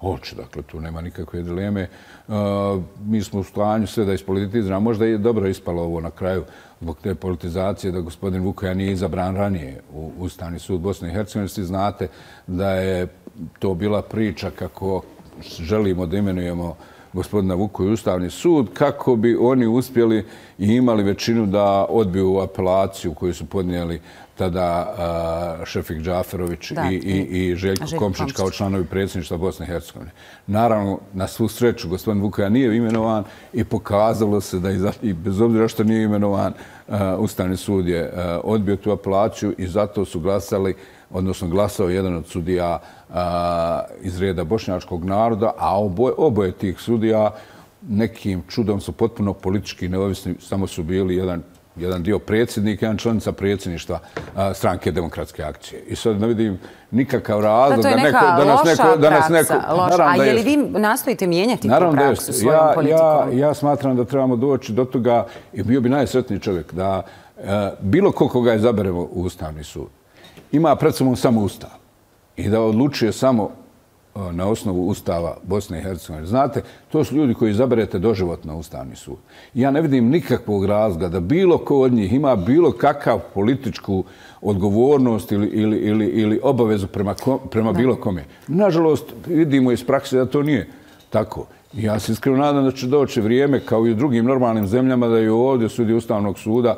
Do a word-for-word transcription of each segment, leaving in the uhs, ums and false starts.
Hoće, dakle, tu nema nikakve dileme. Mi smo u stanju sve da ispolitiziramo. Možda je dobro ispalo ovo na kraju zbog te politizacije da gospodin Vukoja nije izabran ranije u Ustavni sud Bosne i Hercegovine. Svi znate da je to bila priča kako želimo da imenujemo gospodina Vukoja u Ustavni sud, kako bi oni uspjeli i imali većinu da odbiju apelaciju koju su podnijeli tada Šefik Džaferović i Željko Komšić kao članovi predsjedništva Bosne i Hercegovine. Naravno, na svu sreću, gospodin Vukoja nije imenovan i pokazalo se da i bez obzira što nije imenovan, Ustavni sud je odbio tu apelaciju i zato su glasali, odnosno glasao jedan od sudija iz reda bošnjačkog naroda, a oboje tih sudija nekim čudom su potpuno politički neovisni, samo su bili jedan jedan dio predsjednika, jedan članica predsjedništva Stranke demokratske akcije. I sad ne vidim nikakav razlog da neko... To je neka loša praksa. A je li vi nastojite mijenjati tu praksu svojom politikom? Ja smatram da trebamo doći do toga i bio bi najsretniji čovjek da bilo ko koga izaberemo u Ustavni sud ima pred sobom samo Ustav i da odlučuje samo na osnovu Ustava Bosne i Hercegovine. Znate, to su ljudi koji izaberete doživotno na Ustavni sud. Ja ne vidim nikakvog razloga da bilo ko od njih ima bilo kakav političku odgovornost ili, ili, ili, ili obavezu prema, prema bilo kome. Nažalost, vidimo iz prakse da to nije tako. Ja se iskreno nadam da će doći vrijeme, kao i u drugim normalnim zemljama, da i ovdje sudi Ustavnog suda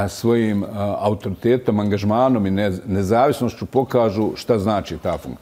svojim autoritetom, angažmanom i nezavisnošću pokažu šta znači ta funkcija.